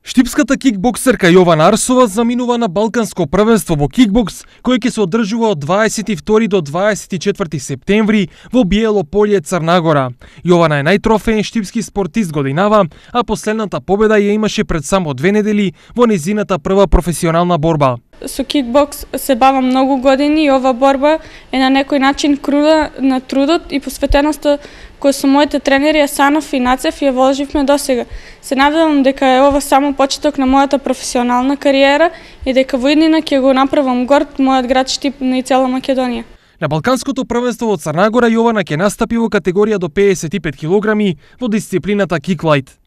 Штипската кикбоксерка Јована Арсова заминува на Балканско првенство во кикбокс, кој ќе се одржува од 22 до 24 септември во Биело Полје, Црна Гора. Јована е најтрофеен штипски спортист годинава, а последната победа ја имаше пред само 2 недели во незината прва професионална борба. Со кикбокс се бавам многу години и ова борба е на некој начин круда на трудот и посветеноста која со моите тренери Асанов и Нацев ја вложивме досега. Се надевам дека е ова само почеток на мојата професионална кариера и дека во иднина ќе го направам горд мојот град Штип и цела Македонија. На Балканското првенство во Црна Гора Јована ќе настапи во категорија до 55 килограми во дисциплината киклайт.